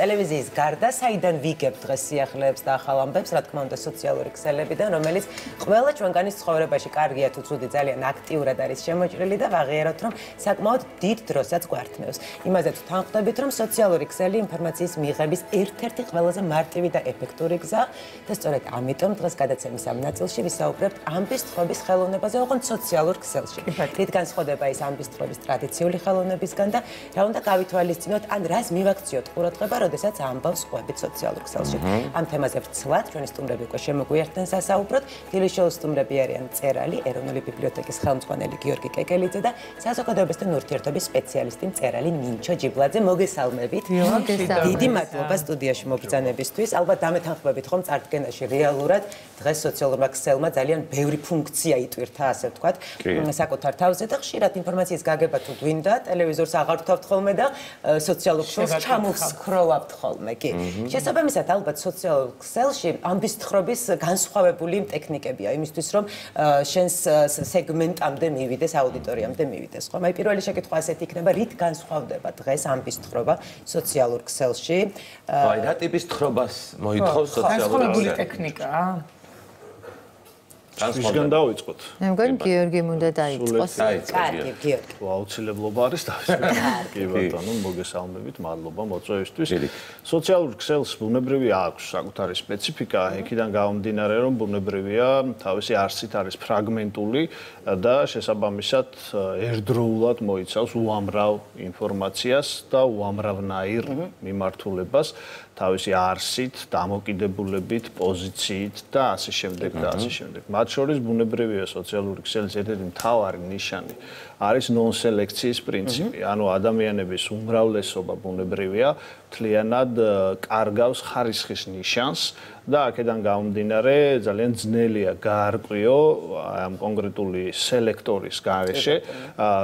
ტელევიზიის გარდა საიდან ვიგებთ დღეს სიახლეებს და ახალ ამბებს, რა თქმა უნდა, სოციალური ქსელებიდან, რომელიც ყველა ჩვენგანის ცხოვრებაში კარგია თუ ცუდი ძალიან აქტიურად არის შემოჭრილი და ვაღიაროთ, რომ საკმაოდ დიდ დროსაც გვართმევს. იმაზეც თანხმდებით, რომ სოციალური ქსელი ინფორმაციის მიღების ერთ-ერთი ყველაზე მარტივი და ეფექტური გზა და სწორედ ამიტომ დღეს გადაცემის ამ ნაწილში ვისაუბრებთ ამბის თხრობის ხელოვნებაზე, ოღონდ სოციალურ ქსელში. რით განსხვავდება ის ამბის თხრობის ტრადიციული ხელოვნებისგან და რა უნდა გავითვალისწინოთ, ან რას მივაქციოთ ყურადღება, როდესაც ამბავს ყვებით სოციალურ ქსელში. ამ თემაზე ვცლად ჩვენი სტუმრები უკვე შემოგვიერთდნენ სასაუბროდ. დილის შოუს სტუმრები არიან მწერალი, ეროვნული ბიბლიოთეკის ხელმძღვანელი გიორგი კეკელიძე და საზოგადოებასთან ურთიერთობის სპეციალისტი მწერალი ნინჩო ჯიბლაძე. მოგესალმებით. დიდი მადლობა სტუდიაში მობრძანებისთვის. ალბათ დამეთანხმებით, რომ წარდგენაში რეალურად დღეს სოციალურმა ქსელმა ძალიან ბევრი ფუნქცია იტვირთა, ასე ვთქვათ, საკუთარ თავზე და ხშირად ინფორმაციის გაგება თუ გვინდა, ტელევიზორს აღარ ვთავთ ხოლმე და სოციალურ ქსელს ჩამოვსკროლავთ ხოლმე, კი. შესაბამისად, ალბათ სოციალურ ქსელში ამბის თხრობის განსხვავებული ტექნიკებია იმისთვის, რომ შენს სეგმენტამდე მივიდეს, აუდიტორიამდე მივიდეს, ხო? აი პირველი შეკითხვა ასეთი იქნება, რით განსხვავდება დღეს ამბის თხრობა სოციალურ ქსელში? აი, რა ტიპის თხრობას მოითხოვს სოციალურ ქსელში? განსხვავებული ტექნიკაა. ვისგან დავიწყოთ? მე მგონი გიორგი უნდა დაიწყოს. კარგი, გიორგი. აუცილებლობა არის დავიწყოთ. კი ბატონო, მოგესალმებით, მადლობა მოწვევისთვის. სოციალურ ქსელს ბუნებრივი აქვს საკუთარი სპეციფიკა, იქიდან გამომდინარე, რომ ბუნებრივია, თავისი არსით არის ფრაგმენტული და შესაბამისად ერთდროულად მოიცავს უამრავ ინფორმაციას და უამრავნაირ მიმართულებას. თავისი არსით, დამოკიდებულებით, პოზიციით და ასე შემდეგ და ასე შემდეგ. მათ შორის ბუნებრივია სოციალური ქსელის ერთ-ერთი მთავარი ნიშანი არის ნონ-სელექციის პრინციპი. ანუ ადამიანების უმრავლესობა ბუნებრივია მთლიანად კარგავს ხარისხის ნიშანს და აქედან გამომდინარე ძალიან ძნელია გაარკვიო ამ კონკრეტული სელექტორის გარეშე,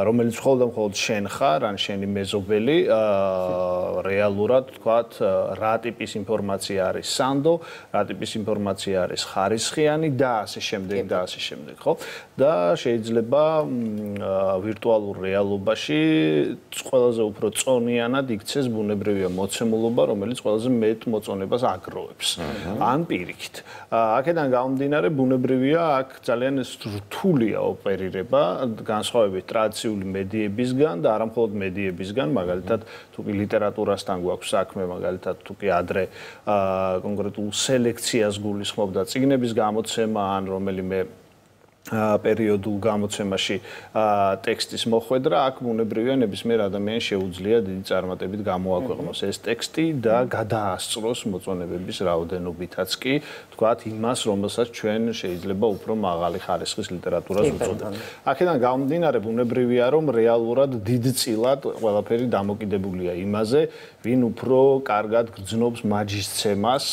რომელიც მხოლოდ შენ ხარ, ან შენი მეზობელი, რეალურად თქვათ, რა ტიპის ინფორმაცია არის სანდო, რა ტიპის ინფორმაცია არის ხარისხიანი და ასე შემდეგ და ასე შემდეგ, ხო? და შეიძლება ვირტუალურ რეალობაში ყველაზე უფრო წონიანად იქცეს ბუნებრივია მოცემულობა, რომელიც ყველაზე მეტ მოწონებას აგროვებს. ან პირიქით. აქედან გამომდინარე ბუნებრივია აქ ძალიან რთულია ოპერირება, განსხვავებით ტრადიციული მედიებისგან და არა მხოლოდ მედიებისგან, მაგალითად თუ კი ლიტერატურასთან გვაქვს საქმე, მაგალითად თუ კი ადრე კონკრეტულ სელექციას გულისხმობდა წიგნების გამოცემა ან რომელიმე პერიოდულ გამოცემაში ტექსტის მოხვედრა, აქ ბუნებრივია ნებისმიერ ადამიანს შეუძლია დიდი წარმატებით გამოაქვეყნოს ეს ტექსტი და გადაასწროს მოწონებების რაოდენობითაც კი, თქვათ, იმას, რომელსაც ჩვენ შეიძლება უფრო მაღალი ხარისხის ლიტერატურას უწოდებთ. აქედან გამომდინარე ბუნებრივია, რომ რეალურად დიდწილად ყველაფერი დამოკიდებულია იმაზე, ვინ უფრო კარგად გრძნობს მაჯისცემას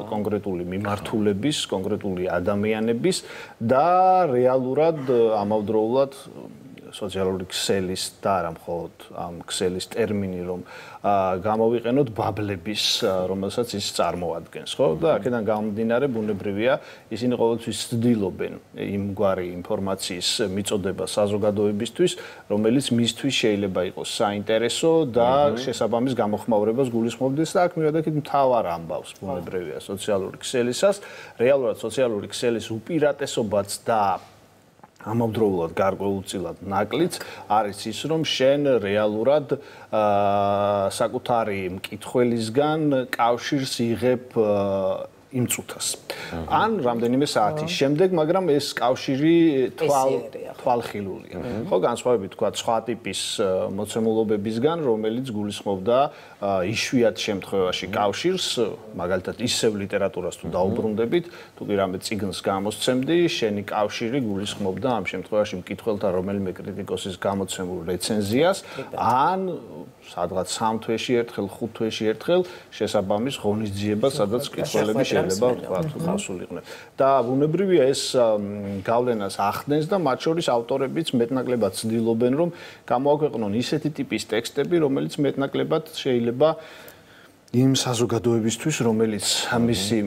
კონკრეტული მიმართულების, კონკრეტული ადამიანების და რეალურად ამავდროულად სოციალური ქსელის და არა მხოლოდ ამ ქსელის ტერმინი რომ გამოვიყენოთ ბაბლების, რომელსაც ის წარმოადგენს, ხო? და აქედან გამომდინარე ბუნებრივია, ისინი ყოველთვის ცდილობენ იმგვარი ინფორმაციის მიწოდება საზოგადოებისთვის, რომელიც მისთვის შეიძლება იყოს საინტერესო და შესაბამის გამოხმაურებას გულისხმობდეს და აქ მივედით მთავარ ამბავს ბუნებრივია სოციალური ქსელისას, რეალურად სოციალური ქსელის უპირატესობაც და ამავდროულად გარკვეულწილად ნაკლიც არის ის, რომ შენ რეალურად საკუთარი მკითხველისგან კავშირს იღებ იმ წუთას. ან რამდენიმე საათის შემდეგ, მაგრამ ეს კავშირი თვალხილულია. ხო, განსხვავებით თქვა სხვა ტიპის მოცემულობებისგან, რომელიც გულისხმობდა იშვიათ შემთხვევაში კავშირს, მაგალითად ისევ ლიტერატურას თუ დაუბრუნდებით, თუ კი რამე წიგნს გამოსცემდი, შენი კავშირი გულისხმობდა ამ შემთხვევაში მკითხველთან რომელიმე კრიტიკოსის გამოცემულ რეცენზიას, ან სადღაც 3 თვეში ერთხელ, 5 თვეში ერთხელ შესაბამის ღონისძიებას, სადაც მკითხველები შეიძლება თქვა თუ ხასულიყვნენ. და ბუნებრივია ეს გავლენას ახდენს და მათ შორის ავტორებიც მეტნაკლებად ცდილობენ, რომ გამოაქვეყნონ ისეთი ტიპის ტექსტები, რომელიც მეტნაკლებად შეიძლება იმ საზოგადოებისთვის, რომელიც მისი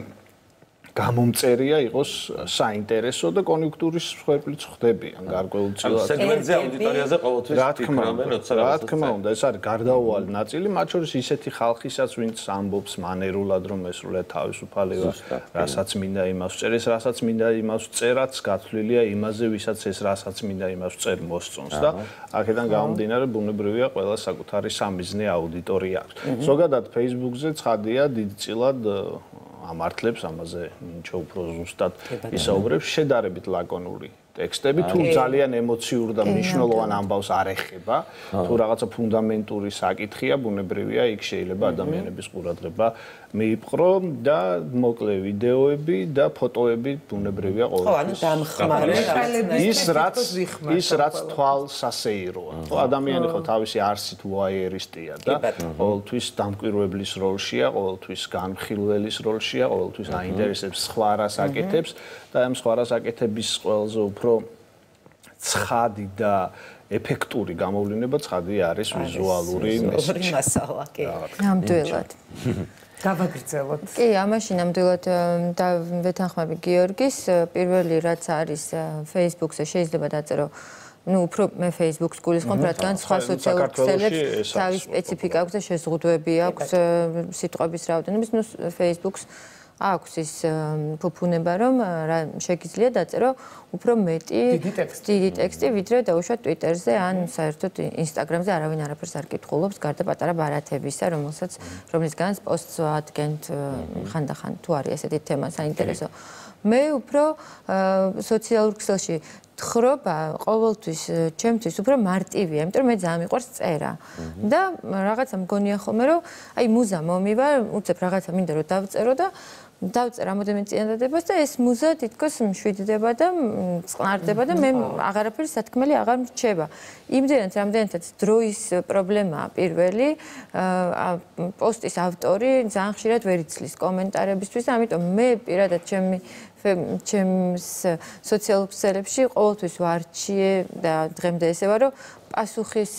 გამომწერია იყოს საინტერესო და კონიუნქტურის მსხვერპლიც ხდებიან გარკვეულწილად. სეგმენტზე აუდიტორიაზე ყოველთვის ფიქრობენ, როცა რა თქმა უნდა, ეს არის გარდაუვალი ნაწილი, მათ შორის ისეთი ხალხისაც, ვინც ამბობს მანერულად, რომ ესრულე თავისუფალება, რასაც მინდა იმას წერეს, რასაც მინდა იმას წერაც, გათვლილია იმაზე, ვისაც ეს რასაც მინდა იმას წერ მოსწონს და აქედან გამომდინარე, ბუნებრივია ყველა საკუთარი სამიზნე აუდიტორია აქვს. ზოგადად Facebook-ზე ცხადია დიდწილად ამართლებს ამაზე ნიჩო უფრო ზუსტად ისაუბრებს შედარებით ლაკონური ტექსტები თუ ძალიან ემოციურ და მნიშვნელოვან ამბავს არ ეხება თუ რაღაცა ფუნდამენტური საკითხია ბუნებრივია იქ შეიძლება ადამიანების ყურადღება მიიპყრო და მოკლე ვიდეოები და ფოტოები ბუნებრივია ყოველთვის ის რაც თვალს ასეიროა ხო ადამიანი ხო თავისი არსით ვოაიერისტია და ყოველთვის დამკვირვებლის როლშია ყოველთვის განხილველის როლშია ყოველთვის აინტერესებს სხვა რას აკეთებს და ამ სხვა რას აკეთების ყველაზე უფრო ცხადი და ეფექტური გამოვლენა ცხადი არის ვიზუალური მასალა კი ნამდვილად გავაგრძელოთ კი ამაში ნამდვილად და ვეთანხმები გიორგის პირველი რაც არის Facebook-ზე შეიძლება დაწერო ну, უფრო მე Facebook-ს გულისხმობ, რადგან სხვა სოციალურ ქსელებს თავის სპეციფიკა აქვს და შეზღუდვები აქვს სიტყვების რაოდენობის, ну, Facebook-ს აქვს ის ფუფუნება, რომ შეგიძლია დაწერო უფრო მეტი დიდი ტექსტი, ვიდრე დაუშვათ Twitter-ზე ან საერთოდ Instagram-ზე არავინ არაფერს არ კითხულობს, გარდა პატარა ბარათებისა, რომლისგანაც პოსტს ადგენთ ხანდახან თუ არის ესეთი თემა საინტერესო. მე უფრო სოციალურ ქსელში თხრობა ყოველთვის ჩემთვის უფრო მარტივია, იმიტომ რომ მე ძალიან მიყვარს წერა. და რაღაცა მგონია ხოლმე, რომ აი მუზა მომივა, უცებ რაღაცა მინდა რომ დავწერო და დავწერ რამოდენიმე წინადადებას და ეს მუზა თითქოს მშვიდდება და წყნარდება და მე აღარაფერი სათქმელი აღარ მრჩება. იმდენად რამდენადაც დროის პრობლემაა პირველი, პოსტის ავტორი ძალიან ხშირად ვერ იცლის კომენტარებისთვის, ამიტომ მე პირადად ჩემს სოციალურ ქსელებში ყოველთვის ვარჩიე და დღემდე ესევა რომ პასუხის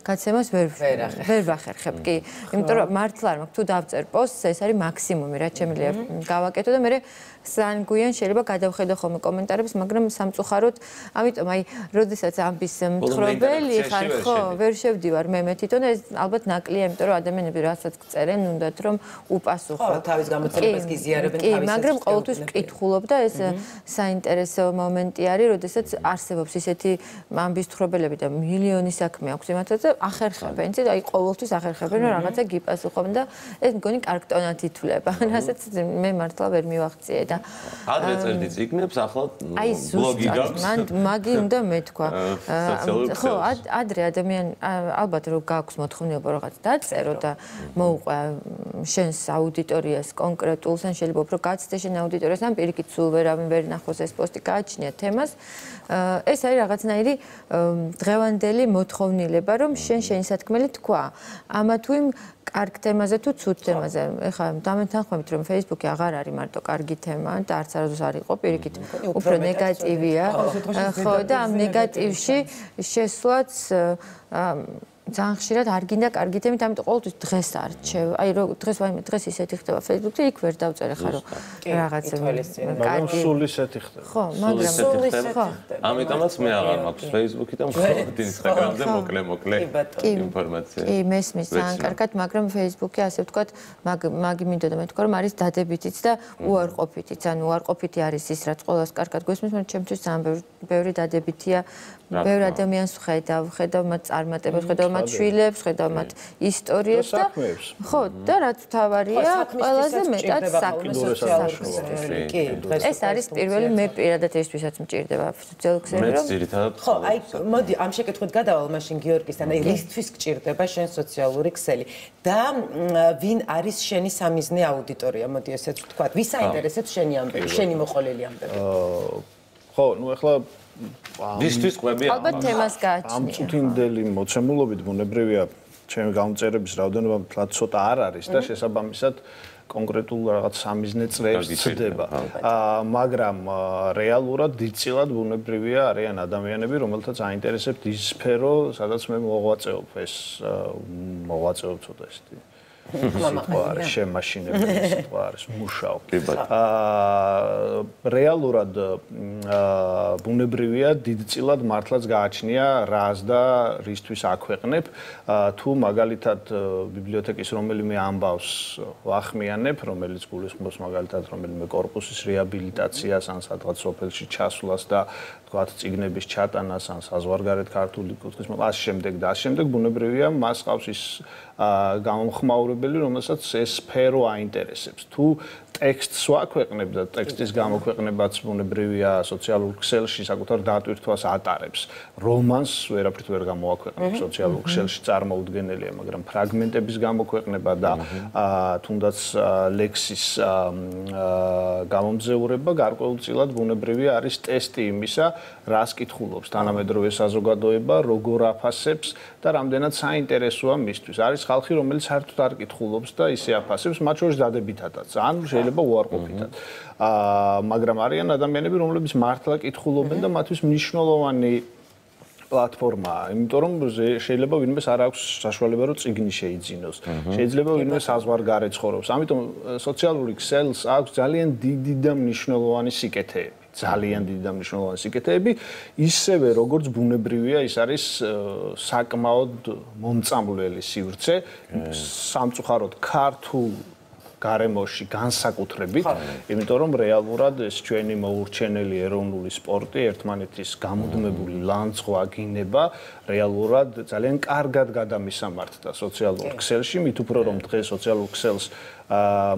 გაცემას ვერ ვახერხებ კი იმიტომ რომ მართლა არ მაქვს თუ დავწერ პოსტს ეს არის მაქსიმუმი რაც შემიძლია გავაკეთო და მე სანგუიან შეიძლება გადავხედო ხოლმე კომენტარებს მაგრამ სამწუხაროდ ამიტომ აი როდესაც ამბის მთხრობელი ხარ ხო ვერ შევდივარ მე თვითონ ეს ალბათ ნაკლია იმიტომ რომ ადამიანები რასაც წერენ უნდათ რომ უპასუხო ხო თავის გამოცდილებას გიზიარებენ თავის მაგრამ ყოველთვის ვკითხულობ და ეს საინტერესო მომენტი არის როდესაც არსებობს ისეთი ამბის მთხრობელები და მილიონი საქმე აქვს იმათაც და ახერხებენ იცით აი ყოველთვის ახერხებენ რომ რაღაცა გიპასუხობენ და ეს მგონი კარგ ტონად ითვლება რასაც მე მართლა ვერ მივახციე და ადრე წერდი წიგნებს ახლა აი ბლოგი გაქვს მან მაგი უნდა მეთქვა ხო ადრე ადამიანი ალბათ რომ გაქვს მოთხოვნილება რაღაც დაწერო და მოუყვა შენს აუდიტორიას კონკრეტულს ან შეიძლება უფრო გაცდე შენ აუდიტორიას ან პირიქით სულ ვერავინ ვერ ნახოს ეს პოსტი გააჩნია თემას ეს არის რაღაცნაირი დღევანდელი მოთხოვნილება რომ შენი სათქმელი თქვა ამა თუ იმ კარგ თემაზე თუ ცუდ თემაზე ეხლა დამეთანხმებით რომ Facebook-ი აღარ არის მარტო კარგი თემა და არც არასდროს არ იყო პირიქით უფრო ნეგატივია ხო და ამ ნეგატივში შესვლაც ძალიან ხშირად არ გინდა კარგი თემით, ამიტომ ყოველთვის დღეს არჩევ. აი დღეს ისეთი ხდება Facebook-ზე, იქ ვერ დავწერე ხარო რაღაცა კარგი. სულ ისეთი ხდება. ხო, მაგრამ სულ ისეთი ხო. ამიტომაც მე აღარ მაქვს Facebook-ი და მხოლოდ Instagram-ზე მოკლე ინფორმაცია. კი, მესმის ძალიან კარგად, მაგრამ Facebook-ი ასე ვთქვათ, მაგი მინდოდა მეთქვა, რომ არის დადებითიც და უარყოფითიც. ანუ უარყოფითი არის ის, რაც ყველას კარგად გვესმის, მაგრამ ჩემთვის ძალიან ბევრი დადებითია. ბევრი ადამიანს ხედავ მათ წარმატებას, ხედავ მათ შვილებს, ხედავ მათ ისტორიებს და ხო, და რაც თავარია, ყველაზე მეტად საქმეს. კი, ეს არის პირველი მე პირადად ესთვისაც მჭირდება სოციალურ ქსელში რომ ხო, აი მოდი ამ შეკითხვით გადავალ მაშინ გიორგისთან, აი რისთვის გჭირდება შენ სოციალური ქსელი და ვინ არის შენი სამიზნე აუდიტორია, მოდი ესეც ვთქვათ, ვის აინტერესებს შენი ამბები, შენი მოყოლილი ამბები? ხო, ну ეხლა ვისთვის ყვები ალბათ თემას გააჩნია. ამ წუთინდელი მოცემულობით ბუნებრივია ჩემი გამწერების რაოდენობა თლად ცოტა არ არის და შესაბამისად კონკრეტულ რაღაც სამიზნე წრეებს წდება. მაგრამ რეალურად დიდწილად ბუნებრივია არიან ადამიანები, რომელთაც აინტერესებთ ის სფერო, სადაც მე მოღვაწეობ, ეს მოღვაწეობ ცოტა ისეთი სიტყვა არის შემაშინებელი სიტყვა არის მუშაობ. რეალურად ბუნებრივია დიდწილად მართლაც გააჩნია რას და რისთვის აქვეყნებ. თუ მაგალითად ბიბლიოთეკის რომელიმე ამბავს ვახმიანებ, რომელიც გულისხმობს მაგალითად რომელიმე კორპუსის რეაბილიტაციას ან სადღაც სოფელში ჩასვლას და თქვათ წიგნების ჩატანას ან საზღვარგარეთ ქართული კუთხის ამ შემდეგ ბუნებრივია მას ყავს ის გამომხმაურებელი, რომელსაც ეს სფერო აინტერესებს. თუ ტექსტს ვაქვეყნებ და ტექსტის გამოქვეყნებაც ბუნებრივია სოციალურ ქსელში საკუთარ დატვირთვას ატარებს. რომანს ვერაფრით ვერ გამოვაქვეყნებ სოციალურ ქსელში წარმოუდგენელია, მაგრამ ფრაგმენტების გამოქვეყნება და თუნდაც ლექსის გამომძევრება გარკვეულწილად ბუნებრივია არის ტესტი იმისა, რას კითხულობს თანამედროვე საზოგადოება, როგორ აფასებს და რამდენად საინტერესოა მისთვის. არის ხალხი, რომელიც საერთოდ არ კითხულობს და ისე აფასებს, მათ შორის დადებითადაც. ან შეიძლება უარყოფითად. მაგრამ არიან ადამიანები, რომლებიც მართლა კითხულობენ და მათთვის მნიშვნელოვანი პლატფორმაა, იმიტომ რომ შეიძლება ვინმეს არ აქვს საშუალება რომ წიგნი შეიძინოს. შეიძლება ვინმე საზღვარგარეთ ცხოვრობს. ამიტომ სოციალური ქსელს აქვს ძალიან დიდი და მნიშვნელოვანი სიკეთეები. ძალიან დიდი და მნიშვნელოვანი სიკეთეები, ისევე როგორც ბუნებრივია, ის არის საკმაოდ მომწამლელი სივრცე, სამწუხაროდ ქართულ გარემოში განსაკუთრებით, იმიტომ რომ რეალურად ეს ჩვენი მოურჩენელი ეროვნული სპორტი, ერთმანეთის გამუდმებული ლანძღვა, გინება, რეალურად ძალიან კარგად გადამისამართდა სოციალურ ქსელში, მით უფრო რომ დღეს სოციალურ ქსელს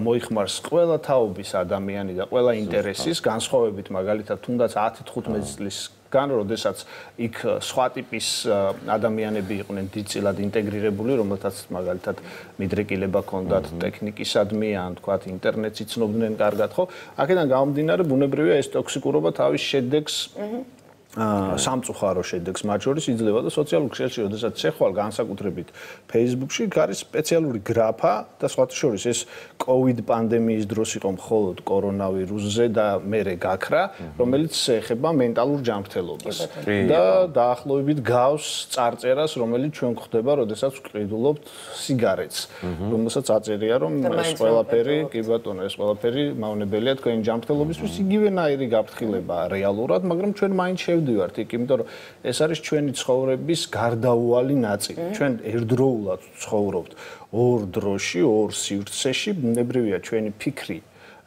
მოიხმარს ყველა თაობის ადამიანი და ყველა ინტერესის, განსხვავებით მაგალითად თუნდაც 10-15 წლის გან, როდესაც იქ სხვა ტიპის ადამიანები იყვნენ დიდწილად ინტეგრირებული, რომელთაც მაგალითად მიდრეკილება ჰქონდათ ტექნიკისადმი ან თქვათ ინტერნეტს იცნობდნენ კარგად, ხო? აქედან გამომდინარე, ბუნებრივია ეს ტოქსიკურობა თავის შედეგს სამწუხარო შედეგს მათ შორის იძლევა და სოციალურ ქსელში, როდესაც შეხვალ განსაკუთრებით Facebook-ში არის სპეციალური გრაფა და სხვათა შორის ეს COVID პანდემიის დროს იყო მხოლოდ კორონავირუსზე და მერე გაქრა, რომელიც ეხება მენტალურ ჯანმრთელობას და დაახლოებით გავს წარწერას, რომელიც ჩვენ გვხდება, როდესაც ვყიდულობთ სიგარეტს, რომელსაც აწერია, რომ ეს ყველაფერი, კი ბატონო, ეს ყველაფერი მავნებელია თქვენი ჯანმრთელობისთვის, იგივენაირი გაფრთხილებაა რეალურად, მაგრამ ჩვენ მაინც შევდივართ იქ, იმიტომ რომ ეს არის ჩვენი ცხოვრების გარდაუვალი ნაწილი. ჩვენ ერთდროულად ცხოვრობთ ორ დროში, ორ სივრცეში, ბუნებრივია ჩვენი ფიქრი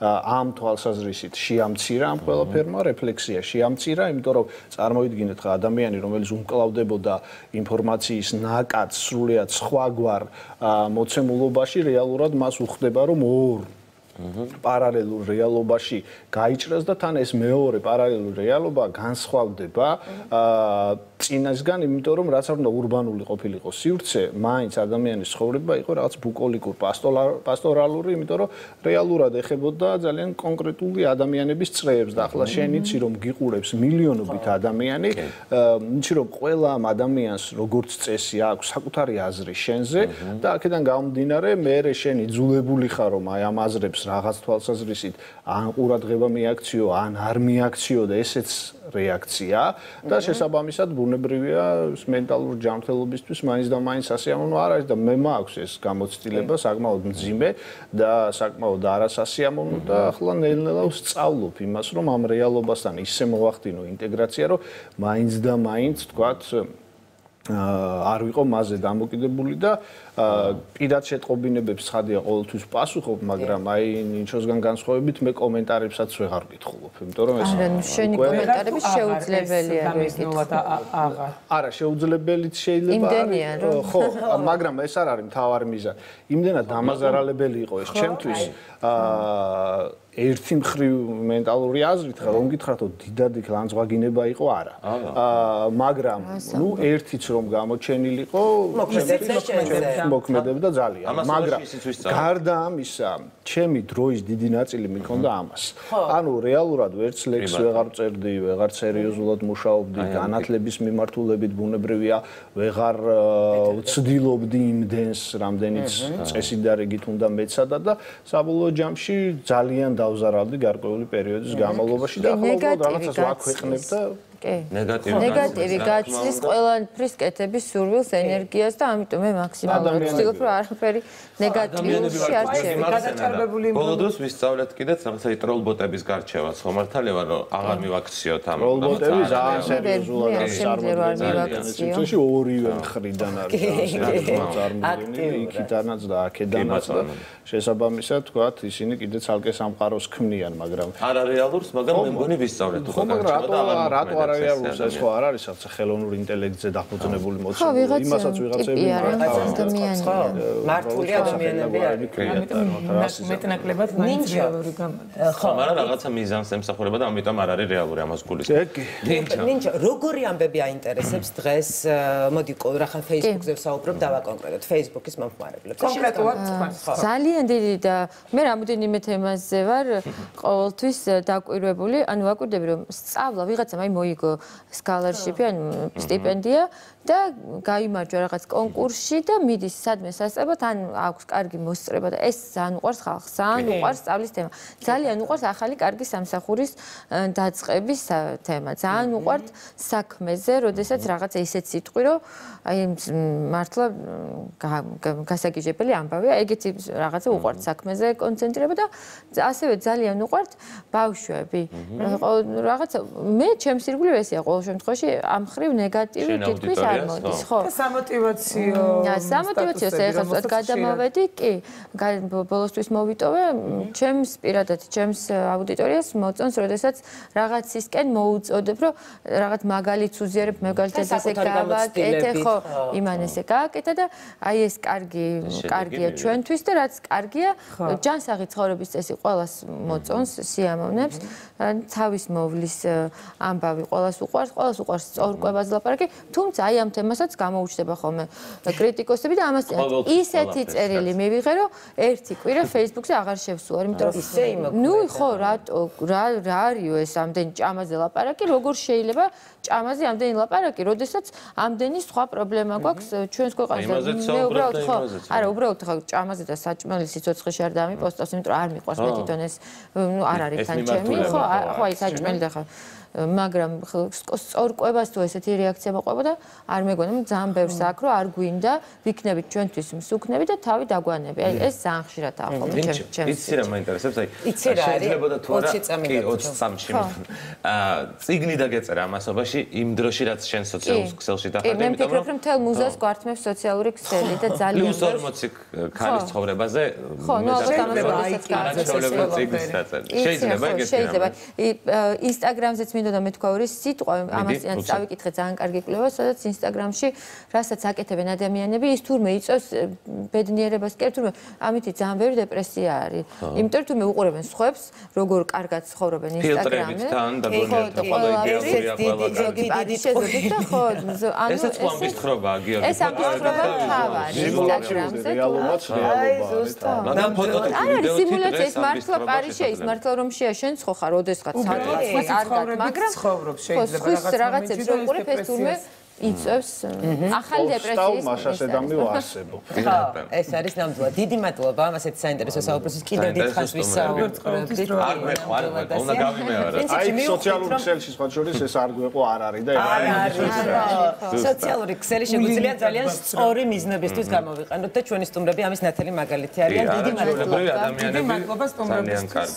ამ თვალსაზრისით შეამცირა ამ ყველაფერმა, რეფლექსია შეამცირა, იმიტომ რომ წარმოიდგინეთ ხა ადამიანი, რომელიც უმკლავდებოდა ინფორმაციის ნაკადს სრულიად სხვაგვარ მოცემულობაში, რეალურად მას უხდება, რომ ორ პარალელურ რეალობაში გაიჭრას და თან ეს მეორე პარალელური რეალობა განსხვავდება წინასგან, იმიტომ რომ რაც არ უნდა ურბანული ყოფილიყო სივრცე, მაინც ადამიანის ცხოვრება იყო რაღაც ბუკოლიკურ, პასტორალური, იმიტომ რომ რეალურად ეხებოდა ძალიან კონკრეტული ადამიანების წრეებს და ახლა შენ იცი რომ გიყურებს მილიონობით ადამიანი, იცი რომ ყველა ამ ადამიანს როგორც წესი აქვს საკუთარი აზრი შენზე და აქედან გამომდინარე მე შენ იძულებული ხარ რომ აი ამ აზრებს რაღაც თვალსაზრისით ან ყურადღება მიაქციო, ან არ მიაქციო და ესეც რეაქცია და შესაბამისად ბუნებრივია მენტალურ ჯანმრთელობისთვის მაინც და მაინც სასიამოვნო არ არის და მე მაქვს ეს გამოცდილება საკმაოდ მძიმე და საკმაოდ არასასიამოვნო და ახლა ნელ-ნელა ვსწავლობ იმას რომ ამ რეალობასთან ისე მოვახდინო ინტეგრაცია რომ მაინც და მაინც თქვათ არ ვიყო მასზე დამოკიდებული და პირად შეტყობინებებს ცხადია ყოველთვის პასუხობ, მაგრამ აი ნინჩოსგან განსხვავებით მე კომენტარებსაც ვეღარ ვკითხულობ, იმიტომ რომ ეს შენი კომენტარები შეუძლებელია მიგიტოთ აღარ. არა, შეუძლებელიც შეიძლება არის, ხო, მაგრამ ეს არ არის მთავარი მიზანი. იმდენად დამაზარალებელი იყო ეს ჩემთვის ერთი მხრივ მენტალური აზრით ხარ, რომ გითხრათ, რომ დიდად იქ ლანძღვაგინება იყო არა. მაგრამ ნუ ერთიც რომ გამოჩენილიყო, მოქმედებდა ძალიან. მაგრამ გარდა ამისა, ჩემი დროის დიდი ნაწილი მიქონდა ამას. ანუ რეალურად ვერც ლექს ვეღარ წერდი, ვეღარ სერიოზულად მუშაობდი, განათლების მიმართულებით ბუნებრივია, ვეღარ ვცდილობდი იმდენს, რამდენიც წესი და რიგით უნდა მეცადა და საბოლოო ჯამში ძალიან დავზარავდი გარკვეული პერიოდის განმავლობაში და ახლა უბრალოდ რაღაცას ვაქვეყნებ და ნეგატივი გაცლის ყველაფრის კეთების სურვილს, ენერგიას და ამიტომ მე მაქსიმალურად ვცდილობ რომ არაფერი ნეგატიურში არ გადაჭარბებული ბოლო დროს ვისწავლეთ კიდეც რაღაცა ტროლბოტების გარჩევაც ხომ მართალია რომ აღარ მივაქციოთ ამ ტროლბოტები ძალიან სერიოზულად არის ორივე მხრიდან არის წარმოდგენილი იქიდანაც და აქედანაც და შესაბამისად თქვათ ისინი კიდე ცალკე სამყაროს ქმნიან მაგრამ არარეალურს მაგრამ მე მგონი ვისწავლეთ ხო მაგრამ რატო არარეალურს ეს ხო არ არის რაღაცა ხელოვნურ ინტელექტზე დაფუძნებული მოცემული იმასაც ვიღაცები მართული ადამიანები არის მეტნაკლებად მაინც რეალური გამოდის ხო მაგრამ რაღაცა მიზანს ემსახურება და ამიტომ არ არის რეალური ამას გულისხმობს ნინჯა როგორი ამბები აინტერესებს დღეს მოდი რახან Facebook-ზე ვსაუბრობ დავაკონკრეტოთ Facebook-ის მომხმარებლებს კონკრეტულად ძალიან დიდი და მე რამოდენიმე თემაზე ვარ ყოველთვის დაკვირვებული ანუ ვაკვირდები რომ სწავლა ვიღაცამ აი მოიგო scholarship-ი ანუ სტიპენდია და გაიმარჯვა რაღაც კონკურსში და მიდის სადმე სასწრაფოდ ან აქვს კარგი მოსწრება და ეს ძალიან უყვარს ხალხს ძალიან უყვარს სწავლის თემა ძალიან უყვარს ახალი კარგი სამსახურის დაწყების თემა ძალიან უყვართ საქმეზე როდესაც რაღაცა ისეთ სიტყვი რომ აი მართლა გასაგიჟებელი ამბავია ეგეთი რაღაცა უყვართ საქმეზე კონცენტრირება და ასევე ძალიან უყვართ ბავშვები რაღაცა მე ჩემს ირგვლივ ესეა ყოველ შემთხვევაში ამ ხრივ ნეგატივი თითქმის არ მოდის ხო სამოტივაციოს ეხლა გადამოვედი კი ბოლოსთვის მოვიტოვე ჩემს პირადად ჩემს აუდიტორიას მოწონს როდესაც რაღაცისკენ მოუწოდებ რომ რაღაც მაგალითს უზიარებ მაგალითად ესე გავაკეთე ხო იმან ესე გააკეთა და აი ეს კარგია ჩვენთვის და რაც კარგია ჯანსაღი ცხოვრების წესი ყველას მოწონს სიამოვნებს თავის მოვლის ამბავი ყველას უყვარს სწორკვებაზე ლაპარაკი თუმცა აი ამ თემასაც გამოუჩნდება ხოლმე კრიტიკოსები და ამას ისეთი წერილი მივიღე რომ ერთი კვირა Facebook-ზე აღარ შევსულა იმიტომ რომ ისე იმოქმედა ნუ ხო რა არისო ეს ამდენი ჭამაზე ლაპარაკი როგორ შეიძლება ჭამაზე ამდენი ლაპარაკი როდესაც ამდენი სხვა პრობლემა გვაქვს ჩვენს ქვეყანაზე მე უბრალოდ ხო არა უბრალოდ ხო ჭამაზე და საჭმელი სიცოცხლეში არ დამიპოსტავს იმიტომ რომ არ მიყვარს მე თვითონ ეს ნუ არ არის თან ჩემი ხო აი საჭმელი და ხო მაგრამ სწორკვებას თუ ესეთი რეაქცია მოყვება და არ მეგონა ძალიან ბევრს აქ რომ არ გვინდა ვიქნებით ჩვენთვის მსუქნები და თავი დაგვანები აი ეს ძალიან ხშირადაა ხოლმე ჩემს იცი რა მაინტერესებს აი შეიძლება და თუ არა კი 23-ში წიგნი დაგეწერა ამასობაში იმ დროში რაც შენ სოციალურ ქსელში დახარდა იმიტომ რომ მე ვფიქრობ რომ მთელ მუზას გვართმევს სოციალური ქსელი და ძალიან პლუს 40 ქალის ცხოვრებაზე ხო ნუ შეიძლება ინსტაგრამზეც მინდოდა მეთქვა ორი სიტყვა ამასთან წავიკითხე ძალიან კარგი კვლევა სადაც ინსტაგრამში რასაც აკეთებენ ადამიანები ის თურმე იწევს ბედნიერებას კი თურმე ამითი ძალიან ბევრი დეპრესია არის იმიტომ რომ თურმე უყურებენ სხვებს როგორ კარგად ცხოვრობენ ინსტაგრამზე ხო ესაც ამბის ხრობაა გიორგი ეს ამბის ხრობა თავარი ინსტაგრამზე რეალობაც რეალობაა არა სიმულაცია ის მართლა პარიზშია ის მართლა რომშია შენ ხო ხარ ოდესღაც სადღაც კარგად მაგრამ ცხოვრობს შეიძლება რაღაცებს რო უყურებ ეს თურმე იწევს ახალი დეპრესიის მასშტაბი ვარსებობ. ეს არის ნამდვილად. დიდი მადლობა ამასეთ საინტერესო საუბრისთვის. კიდევ დიდხანს ვისაუბრებთ. არ მეყვარ, უნდა გავიმეორე. აი სოციალური ქსელში სხვა შორის ეს არ გვეყო არ არის და სოციალური ქსელი შეგვიძლია ძალიან სწორი მიზნებისთვის გამოვიყენოთ და ჩვენი სტუმრები ამის ნათელი მაგალითი არიან. დიდი მადლობა. დიდი მადლობა სტუმრებისთვის.